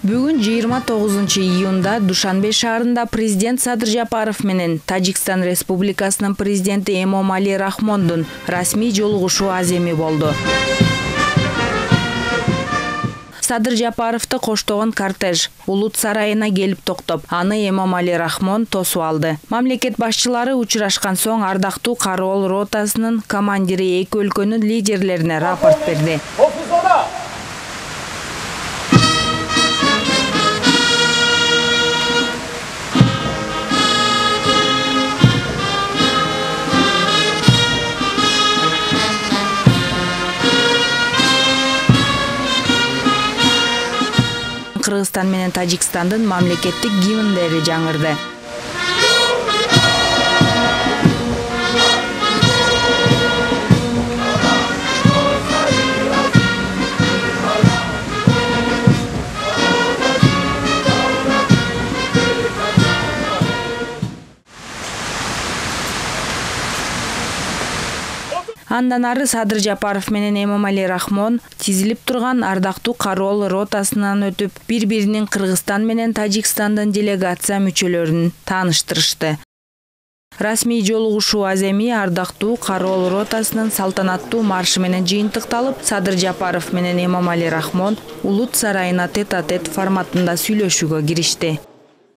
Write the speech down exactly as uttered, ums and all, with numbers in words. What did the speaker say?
Бүгүн жыйырма тогузунчу июнда Душанбе шаарында президент Садыр Жапаров менен Тажикстан Республикасынын президенти Эмомали Рахмондун расмий жолугушуу аземи болду. Садыр Жапаровду коштогон кортеж Улут сарайына келип токтоп, аны Эмомали Рахмон тосуп алды. Мамлекет башчылары учурашкан соң ардактуу кароол ротасынын командири эки өлкөнүн лидерлерине рапорт берди. Кыргызстан менен Тажикстандын мамлекеттик гимндери жаңырды. Андан ары Садыр Жапаров менен Эмомали Рахмон тизилип турган ардактуу кароол ротасынан өтүп, бири-биринин Кыргызстан менен Тажикстандын делегация мүчөлөрүн тааныштырышты. Расмий жолугушуу аземи ардактуу кароол ротасынын салтанаттуу маршы менен жыйынтыкталып, Садыр Жапаров менен Эмомали Рахмон Улут сарайына тет-а-тет форматында сүйлөшүүгө киришти.